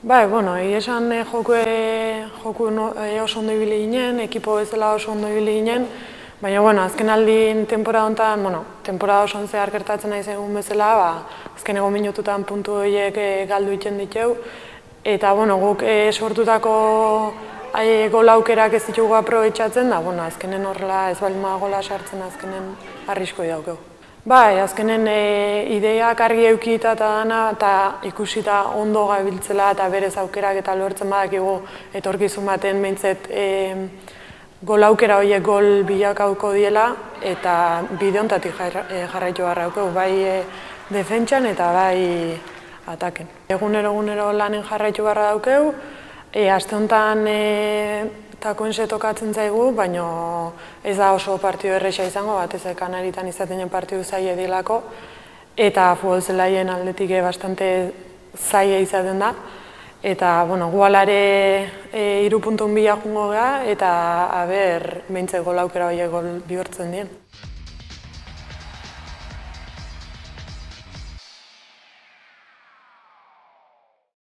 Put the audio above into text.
Bai, bueno, esan joku oso ondo ibili ginen, ekipo bezala oso ondo ibili ginen, baina, bueno, azken aldin temporada honetan, temporada oso zehar gertatzen nahi zegoen bezala, azkeneko minututan puntu horiek galdu egiten ditu, eta, bueno, guk sortutako gol aukerak ez ditugu aprobetxatzen, da, bueno, azkenen horrela ez baldin gola sartzen azkenen arriskoi daukegu. Bai, azkenen ideiak argi eukita eta dana, eta ikusita ondo gabiltzela eta berez aukerak eta lortzen badakigu etorkizun baten behintzet gol aukera horiek gol bilakauko diela eta bide honetatik jarraitu beharra daukegu, bai defentsan eta bai ataken. Egunero lanen jarraitu beharra daukegu, aste honetan Takoense tokatzen zaigu, baina ez da oso partidu erresa izango, batez Kanaritan izaten den partidu zaila dilako, eta futbol zelaien aldetik bastante zaila izaten da, eta, bueno, gualare 3 puntun bila jungo gara, eta, behintzat gol aukera horiek gol bihurtzen dien.